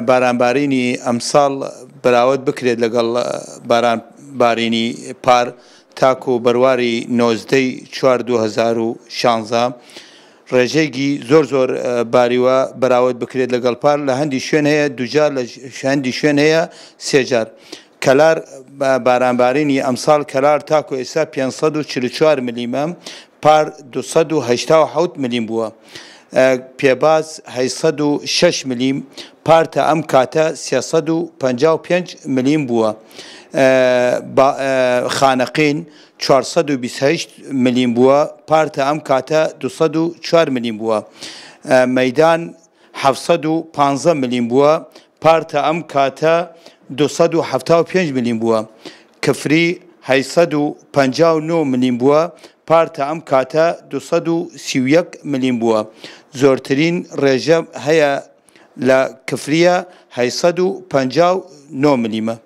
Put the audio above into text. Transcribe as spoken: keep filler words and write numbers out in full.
بارانبارینی ئەمساڵ بەراورد بکرێت لەگەڵ بارانبارینی پار تاکو بەرواری نۆزدەی چوار دوو هەزار و شانزە ڕێژەیەکی زۆر زۆر باریوە بەراورد بکرێت لەگەڵ پار. لە هەندی شوێن هەیە دووجار، لە هەندی شوێن هەیە سێجار. کەلار بارانبارینی ئەمساڵ کەلار تاکو ئێستا پێنج سەد و چل و چوار ملیمە، پار دوو سەد و هەشتا و حەوت ملیم بووە. پێباز هەشت سەد و شەش ملیم، پار تا ئەم کاتە سێ سەد و پەنجا و پێنج ملیم بووە. خانەقین چوار سەد و بیست و هەشت ملیم بووە، پار تا ئەم کاتە دوو سەد و چوار ملیم بووە. مەیدان حەفت سەد و پانزە ملیم بووە، پار تا ئەم کاتە دوو سەد و حەفتا و پێنج ملیم بووە. کفری هەشت سەد و پەنجا و نۆ ملیم بووە، پار تا ئەم کاتە دوو سەد و سی و یەک ملیم بووە. زۆرترین ڕێژە هەیە لە کفریە هەشت سەد و پەنجا و نۆ ملیمە.